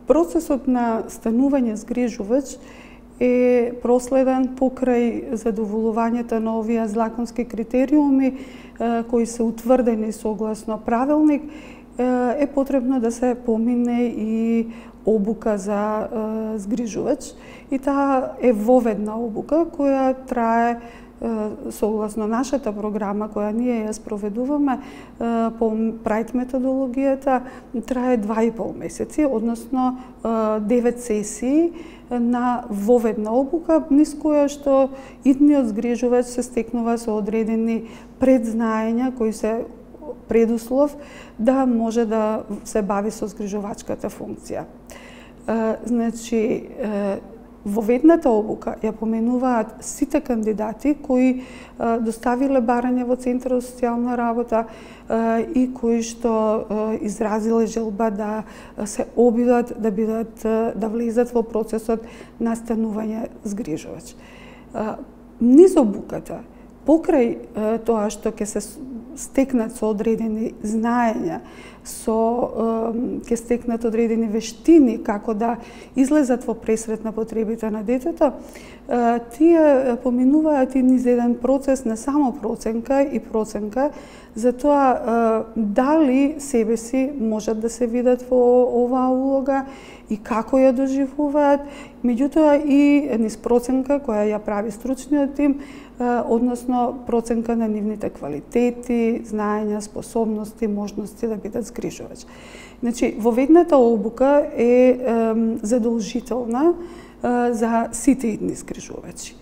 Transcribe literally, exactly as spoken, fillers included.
Процесот на станување згрижувач е проследен покрај задоволувањето на овие законски критериуми кои се утврдени согласно правилник. Е потребно да се помине и обука за згрижувач, и таа е воведна обука која трае согласно нашата програма која ние ја спроведуваме по Прайд методологијата, трае два и пол месеци, односно девет сесии на воведна обука, низ која што идниот згрижувач се стекнува со одредени предзнаења кои се предуслов да може да се бави со згрижувачката функција. Значи, воведната обука ја поменуваат сите кандидати кои доставиле барање во Центарот за социјална работа и кои што изразиле желба да се обидат да бидат да влезат во процесот на станување згрижувач. Низ обуката, покрај тоа што ќе се стекнат со одредени знаења, со ќе стекнат одредени вештини како да излезат во пресрет на потребите на детето, тие поминуваат и низ еден процес на самопроценка и проценка за тоа дали себе си можат да се видат во оваа улога и како ја доживуваат, меѓутоа и низ проценка која ја прави стручниот тим, односно проценка на нивните квалитети, знаења, способности, можности да бидат згрижувач. Значи, воведната обука е задолжителна за сите идни згрижувачи.